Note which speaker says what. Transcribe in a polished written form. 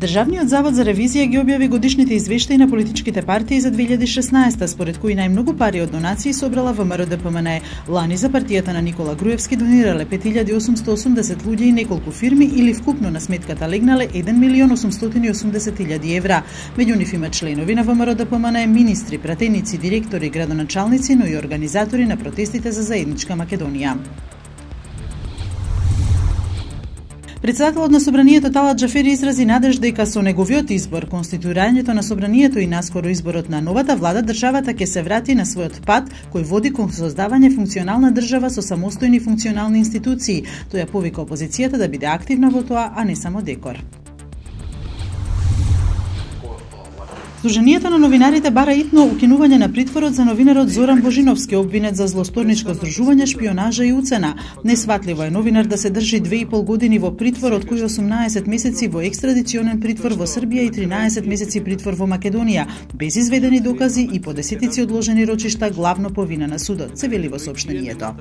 Speaker 1: Државниот завод за ревизија ги објави годишните извештаи на политичките партии за 2016, според кои најмногу пари од донации собрала ВМРО-ДПМНЕ. Лани за партијата на Никола Груевски донирале 5880 луѓе и неколку фирми, или вкупно на сметката легнале 1.880.000 евра. Меѓу нив има членови на ВМРО-ДПМНЕ, министри, пратеници, директори, градоначалници, но и организатори на протестите за заедничка Македонија. Председателот на Собранието Талат Џафери изрази надеж дека со неговиот избор, конституирањето на Собранието и наскоро изборот на новата влада, државата ќе се врати на својот пат кој води кон создавање функционална држава со самостојни функционални институции. Тој ја повика опозицијата да биде активна во тоа, а не само декор. Сдруженијето на новинарите бара итно укинување на притворот за новинарот Зоран Божиновски, обвинет за злосторничко здружување, шпионажа и уцена. Несватливо е новинар да се држи 2,5 години во притвор, од кои 18 месеци во екстрадиционен притвор во Србија и 13 месеци притвор во Македонија, без изведени докази и по десетици одложени рочишта, главно по вина на судот, се вели во соопштението.